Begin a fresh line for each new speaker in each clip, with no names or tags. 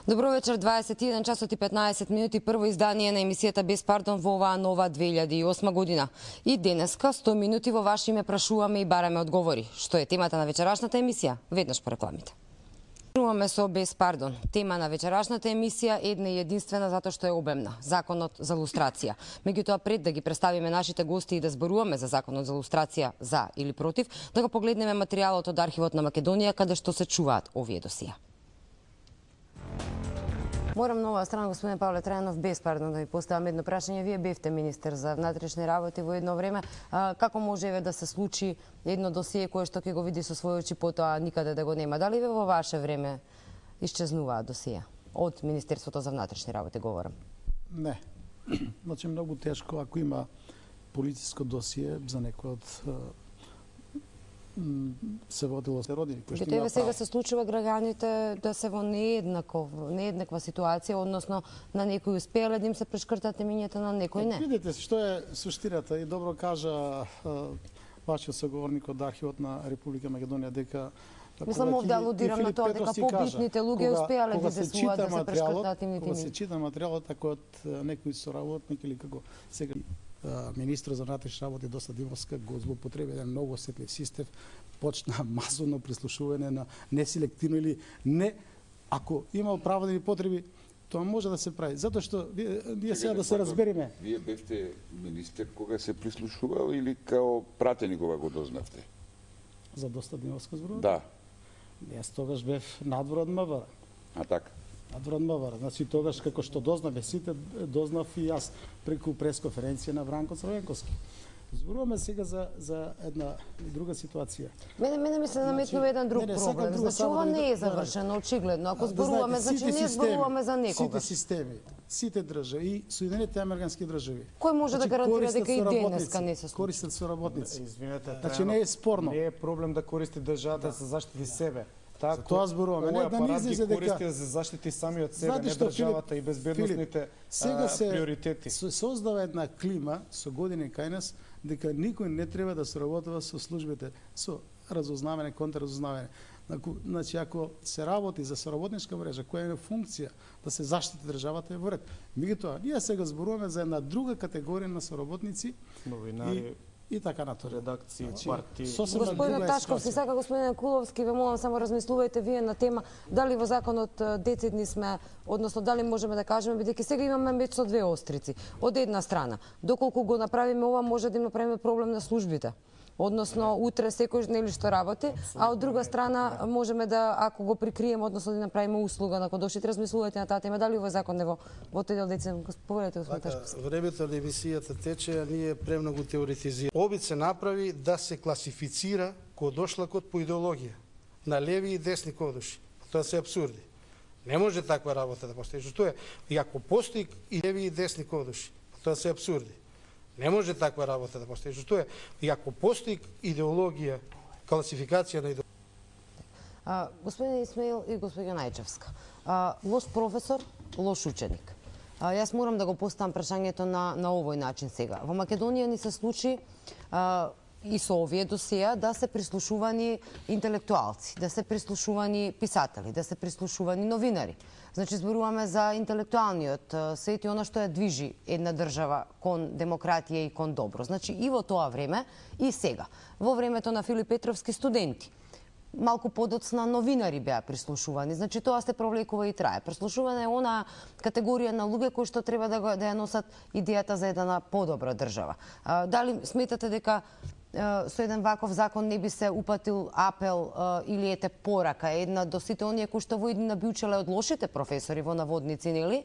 Добро вечер, 21 часот и 15 минути, прво издание на емисијата Без пардон во оваа нова 2008 година. И денеска 100 минути во ваше име прашуваме и бараме одговори. Што е темата на вечерашната емисија? Веднаш по рекламите. Прашуваме со Без пардон. Тема на вечерашната емисија една и единствена затоа што е обемна. Законот за лустрација. Меѓутоа, пред да ги представиме нашите гости и да зборуваме за законот за лустрација за или против, да го погледнеме материјалот од архивот на Македонија каде што се чуваат овие досија. Морам на оваа страна, господин Павле Трајанов, без пардон да ви поставам едно прашање. Вие бевте министер за внатрешни работи во едно време. Како може да се случи едно досие кое што ќе го види со своји очи, потоа никаде да го нема? Дали во ваше време исчезнуваа досија? Од Министерството за внатрешни работи говорам.
Не. Значи многу тешко ако има полициско досие за некој од се водило се родини кои што
има сега се случува граѓаните да се во нееднаква ситуација, односно на некој успеале да им се прешкртат имињата, на некој не.
Видите што е суштината и добро кажа вашиот соговорник од архивот на Република Македонија дека
мислам овде алудирам на тоа дека побитните луѓе успеале да изесуваат да се прешкртат имињата.
Кога се чита материјалот ако од некој соработник или како сега министрот за внатрешни работи Доста Димовска го злоупотреби еден многу осетлив систем, почна масовно прислушување на неселективно или не, ако има оправдани потреби, тоа може да се прави. Затоа што ние сега да се разбереме.
Вие бевте министер кога се прислушувал или као пратеник кога го дознавте?
За Доста Димовска зборувате?
Да.
Јас тогаш бев надвор од МВР.
А така?
Надвор од МВР. Значи тогаш како што дознаве сите, дознав и јас преку пресконференција на Вранко Црвенковски. Зборуваме сега за една друга ситуација.
Мене ми се наметнува еден друг проблем. Значи ова не е завршено, очигледно. Ако зборуваме, значи не зборуваме за некога.
Сите системи, сите држави и Соединените американски држави.
Кој може да гарантира дека и денеска не се случи?
Користат соработници.
Извинете,
значи не е спорно.
Не е проблем да користи државата за заштити себе.
За тоа зборуваме.
Не да не излезе дека користи за заштити сами од себе, не државата и безбедносните приоритети.
Сега се создава една клима со години кај нас дека никој не треба да соработува со службите, со разузнавање, контрразузнавање. Значи, ако се работи за соработничка мрежа, која е функција да се заштити државата, е во ред. Меѓутоа, ние сега зборуваме за една друга категорија на соработници,
новинари,
и така натаму.
Редакции, партии.
Господин Ташковски, сака господин Куловски, ве молам само размислувајте вие на тема дали во законот децидни сме, односно дали можеме да кажеме, бидејќи сега имаме меч со две острици. Од една страна, доколку го направиме ова, може да направиме проблем на службите. Односно, утре секој нели што работи, а од друга страна можеме да, ако го прикриеме, односно да направиме услуга на кодошите, размислувајте на таа тема, дали овој закон е во тој дел децидни. Повелете, господин Ташковски.
Времето на емисијата тече, а ние премногу теоретизираме. Обид се направи да се класифицира кодошлакот по идеологија на леви и десни кодоши. Тоа се апсурди. Не може таква работа да постои. Што е? И ако постои и леви и десни кодоши, тоа се апсурди. Не може таква работа да постои. Што е? И ако постои идеологија, класификација на идеологија.
Господин Исмаил и господин Најчевска, лош професор, лош ученик. Јас морам да го поставам прашањето на овој начин сега. Во Македонија ни се случи и со овие досија да се прислушувани интелектуалци, да се прислушувани писатели, да се прислушувани новинари. Значи, зборуваме за интелектуалниот свет и она што ја движи една држава кон демократија и кон добро. Значи, и во тоа време, и сега. Во времето на Филип Петровски студенти. Малку подоцна новинари беа прислушувани. Значи, тоа се провлекува и трае. Прислушуване е она категорија на луѓе кои што треба да ја носат идејата за една подобра држава. Дали сметате дека со еден ваков закон не би се упатил апел или ете порака една до сите оние кои што во иднина би учеле од лошите професори во наводници, нели?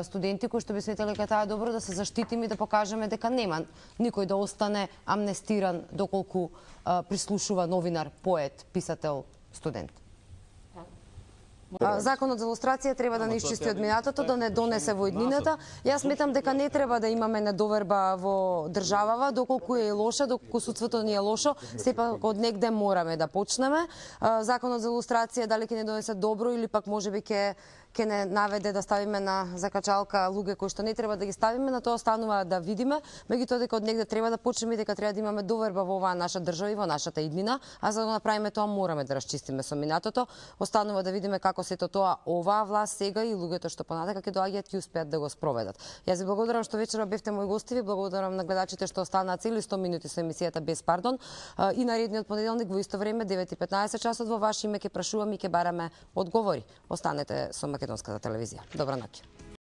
Студенти кои што би сметале дека таа е добро да се заштитиме и да покажеме дека нема никој да остане амнестиран доколку прислушува новинар, поет, писател, студент. Законот за лустрација треба да не исчисти од минатото, да не донесе во иднината. Јас сметам дека не треба да имаме недоверба во државава, доколку е лоша, доколку судството ни е лошо, сепак од негде мораме да почнеме. Законот за лустрација дали ќе не донесе добро или пак можеби ќе ќе не наведе да ставиме на закачалка луѓе кои што не треба да ги ставиме, на тоа останува да видиме, меѓутоа дека од негде треба да почнеме и дека треба да имаме доверба во оваа наша држава и во нашата иднина, а за да направиме тоа мораме да расчистиме со минатото. Останува да видиме како сето тоа оваа власт сега и луѓето што понатака ќе доаѓаат ќе успеат да го спроведат. Јас ви благодарам што вечера бевте мои гости, ви благодарам на гледачите што останаа цели 100 минути со емисијата Без пардон и наредниот понеделник во исто време 9:15 часот во ваше име ќе прашуваме и ќе бараме одговори. Останете со македонската телевизија. Добра ноќ.